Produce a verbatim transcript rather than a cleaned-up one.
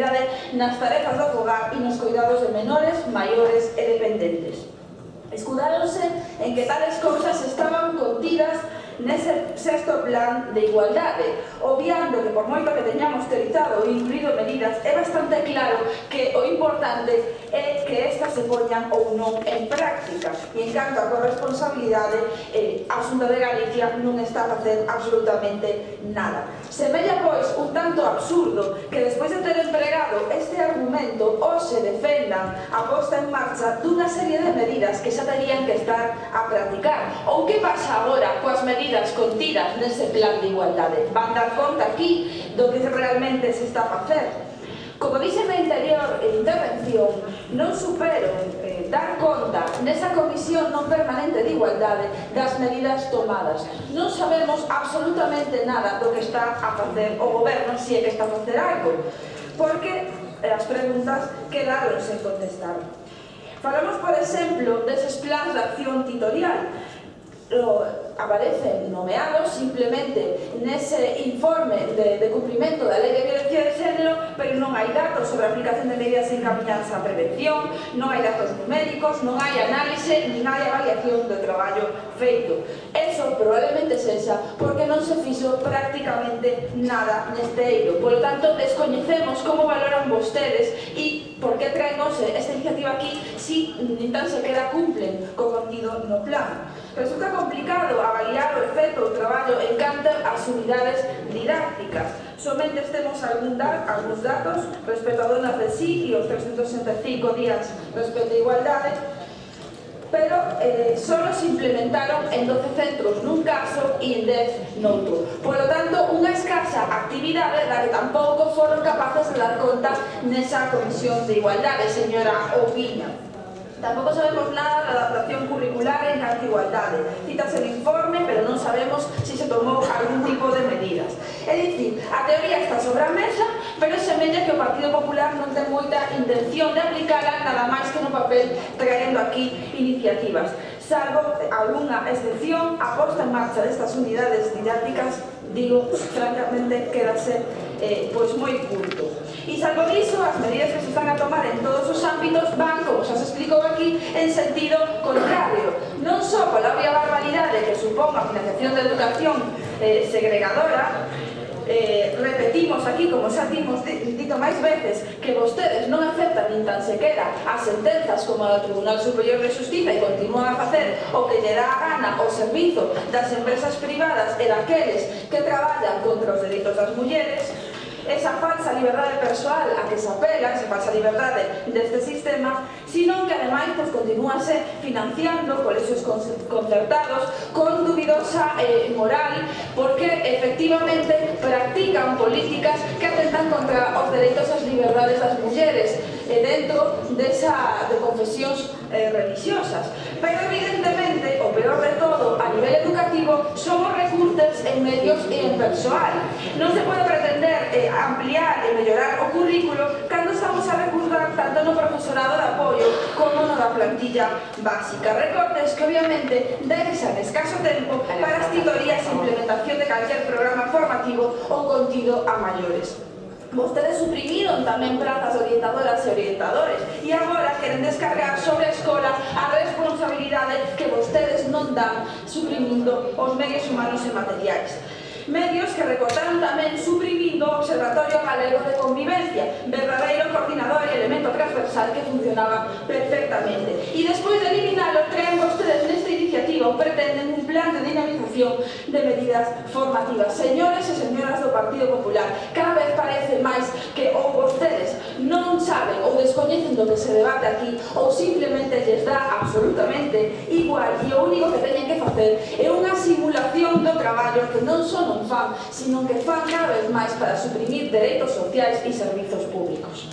responsabilidade nas tarefas do fogar e nos cuidados de menores, maiores e dependentes. Escudáronse en que tales cousas estaban contidas nese sexto plan de igualdade, obviando que por moito que teñamos teorizado ou incluído medidas, é bastante claro que o importante é que estas se poñan ou non en práctica. E en canto a corresponsabilidade, eh, a Xunta de Galicia non está a facer absolutamente nada. Semella, pois, un tanto absurdo que despois de ter empregado este argumento hoxe defendan a posta en marcha dunha serie de medidas que xa terían que estar a practicar. Ou que pasa agora coas medidas contidas nese plan de igualdade? Van dar conta aquí do que realmente se está a facer? Como dixen na anterior intervención, non supero eh, dar conta nesa comisión non permanente de igualdade das medidas tomadas. Non sabemos absolutamente nada do que está a facer o goberno, se é que está a facer algo, porque as preguntas quedaron sen contestar. Falamos, por exemplo, deses plans de acción titorial. Aparecen nomeados simplemente nese informe de, de cumprimento da Lei de Violencia de Xénero, pero non hai datos sobre a aplicación de medidas encaminadas á prevención, non hai datos numéricos, non hai análise, nin hai avaliación do traballo feito. Eso probablemente sexa porque non se fixo prácticamente nada neste eido. Por lo tanto, descoñecemos como valoran vostedes e por que traemos esta iniciativa aquí si nin tan sequera cumplen co contido no plan. Resulta complicado avaliar o efecto do traballo en canto ás unidades didácticas. Somente temos algúns datos respecto a donas de sí e os trescentos sesenta e cinco días respecto a igualdade, pero eh, solo se implementaron en doce centros nun caso e en dez noutro. Por lo tanto, unha escasa actividade da que tampouco foron capaces de dar conta nesa comisión de igualdade, señora Oubiña. Tampouco sabemos nada da adaptación curricular en canto a igualdade. Cítase no informe, pero non sabemos se se tomou algún tipo de medidas. É dicir, a teoría está sobre a mesa, pero semella que o Partido Popular non ten moita intención de aplicala, nada máis que no papel traendo aquí iniciativas. Salvo algunha excepción, a posta en marcha destas unidades didácticas, digo, francamente, quedase eh, pois moi curto. E salvo diso, as medidas que se están a tomar en todos os ámbitos van, como xa se explicou aquí, en sentido contrario. Non só pola obvia barbaridade que supón a financiación da educación eh, segregadora, eh, repetimos aquí, como xa dimos dito máis veces, que vostedes non aceptan nin tan sequera as sentenzas como a do Tribunal Superior de Xustiza e continúan a facer o que lle dá a gana ao servizo das empresas privadas e daqueles que traballan contra os dereitos das mulleres. Esa falsa liberdade persoal a que se apela, esa falsa liberdade deste sistema, sino que ademais pues, continúase financiando colexios concertados con dubidosa eh, moral, porque efectivamente practican políticas que atentan contra os dereitos e as liberdades das mulleres eh, dentro desa, de confesións eh, religiosas. Pero evidentemente, o peor de todo, a nivel educativo, somos recortes en medios e en persoal. Non se pode pretender eh, ampliar e mellorar o currículo cando estamos a recurrir tanto no profesorado de apoio como no da plantilla básica. Recortes que obviamente deixan escaso tempo para as titorías e implementación de calquer programa formativo ou contido a maiores. Vostedes suprimiron tamén prazas orientadoras e orientadores e agora queren descargar sobre a escola a responsabilidade que vostedes non dan suprimindo os medios humanos e materiais. Medios que recortaron tamén suprimindo o Observatorio Galego de Convivencia, verdadeiro coordinador e elemento transversal que funcionaba perfectamente. E despois de eliminalo, traen vostedes nesta iniciativa ou pretenden un plan de dinamización de medidas formativas. Señores e señoras do Partido Popular, cada vez parece máis que ou vostedes non saben ou descoñecen do que se debate aquí ou simplemente lles dá absolutamente igual e o único que teñen que facer é unha simulación do traballo que non son fan, sino que fan cada vez máis para suprimir dereitos sociais e servizos públicos.